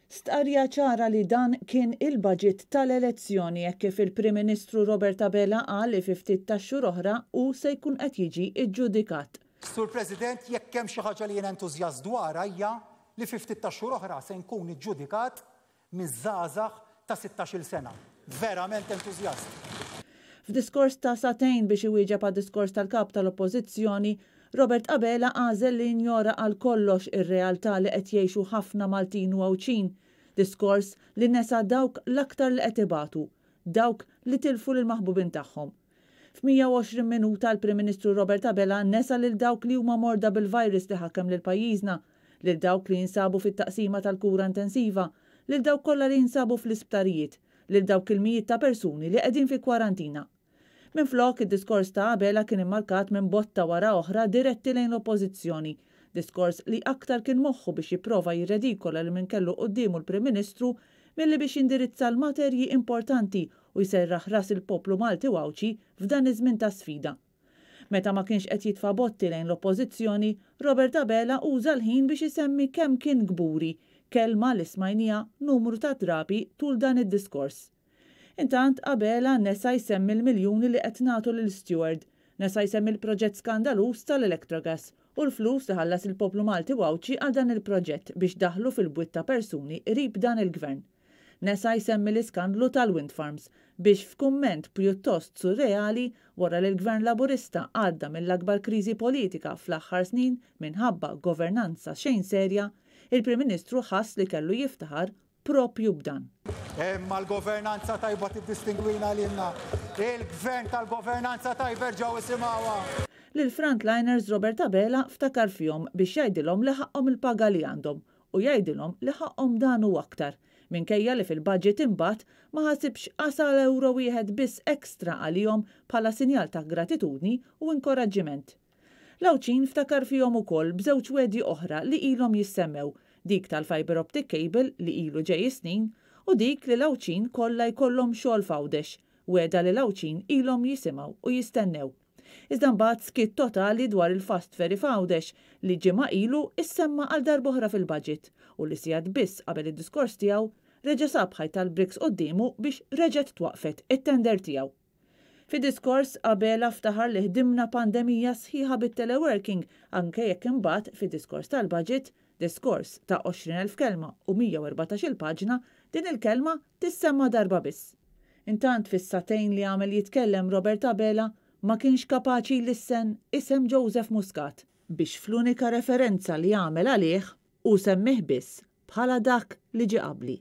Stqarrija ċara li dan kien il-budget tal-elezzjoni hekk kif il-Prim Ministru Robert Abela qal li fi ftit tax-xhur oħra hu se jkun qed jiġi ġġudikat. Sur President, jekk hemm xi ħaġa li jien entużjast dwarha hija li fi ftit tax-xhur oħra se nkun iġġudikat miż-żgħażagħ ta' sittax-il sena. Verament entużjast. F'diskors ta' sagħtejn biex iwieġeb għad-diskors tal-Kap tal-Oppożizzjoni, Robert Abela għażel li jinjora għal kollox ir-realtà li qed jgħixu ħafna Maltin u Għawdxin. Diskors li nesa dawk l-aktar li qed ibatu, dawk li tilfu lill-maħbubin tagħhom. F'120 minuta l-Prim Ministru Robert Abela nesa lil dawk li huma morda bil-virus li ħakem lil pajjiżna, lil dawk li jinsabu fit-taqsima tal-kura intensiva, lil dawk kollha li jinsabu fl-isptarijiet, lil dawk il-mijiet ta' persuni li qegħdin fi kwarantina. Minflok, id-diskors ta' Abela kien immarkat minn botta wara oħra diretti lejn l-Oppożizzjoni. Diskors li aktar kien moħħu biex jipprova jirredikola lil min kellu quddiemu l-Prim Ministru milli biex jindirizza l-materji importanti u jserraħ ras il-poplu Malti u Għawdxi f'dan iż-żmien ta' sfida. Meta ma kienx qed jitfa' botti lejn l-Oppożizzjoni, Robert Abela uża l-ħin biex isemmi kemm kien kburi, kelma li smajniha numru ta' drabi tul dan id-diskors. Intant, Abela nesa jsemmi l-miljuni li qed nagħtu lil Steward, nesa jsemmi l-proġett skandaluż tal-Electrogas u l-flus li ħallas il-poplu Malti u Għawdxi għal dan il-proġett biex daħlu fil-bwiet ta' persuni qrib dan il-Gvern. Nesa jsemmi l-iskandlu tal-wind farms biex f'kumment pjuttost surreali wara li l-Gvern Laburista għadda mill-akbar kriżi politika fl-aħħar snin minħabba governanza xejn serja, il-Prim Ministru ħass li kellu jiftaħar proprju b'dan. Imma l-governanza tajba tiddistingwina lilna. Il-Gvern tal-governanza tajba erġgħu isimgħuha! Lill-frontliners Robert Abela ftakar fihom biex jgħidilhom li ħaqqhom il-paga li għandhom u jgħidilhom li ħaqqhom dan u aktar, minkejja li fil-budget imbagħad ma ħasibx qas għal ewro wieħed biss extra għalihom bħala sinjal ta' gratitudni u inkoraġġiment. L-Għawdxin ftakar fihom ukoll b'żewġ wegħdi oħra li ilhom jissemmew, dik tal-fibre optic cable li ilu ġej is-snin u dik li l-Għawdxin kollha jkollhom xogħol f'Għawdex, wegħda li l-Għawdxin ilhom jisimgħu u jistennew. Iżda mbagħad skiet totali dwar il-fast ferry f'Għawdex li ġimgħa ilu issemma għal darb'oħra fil-budget u li sigħat biss qabel id-diskors tiegħu reġa' sab ħajt tal-bricks quddiemu biex reġgħet twaqqfet it-tender tiegħu. Fid-diskors Abela ftaħar li ħdimna pandemija sħiħa bit-teleworking anke jekk imbagħad fid-diskors tal-budget, diskors ta' 20,000 kelma u 114-il paġna, din il-kelma tissemma darba biss. Intant fis-sagħtejn li għamel jitkellem Robert Abela ma kienx kapaċi jlissen isem Joseph Muscat, biex fl-unika referenza li għamel għalih hu semmih biss bħala dak li ġie qabli.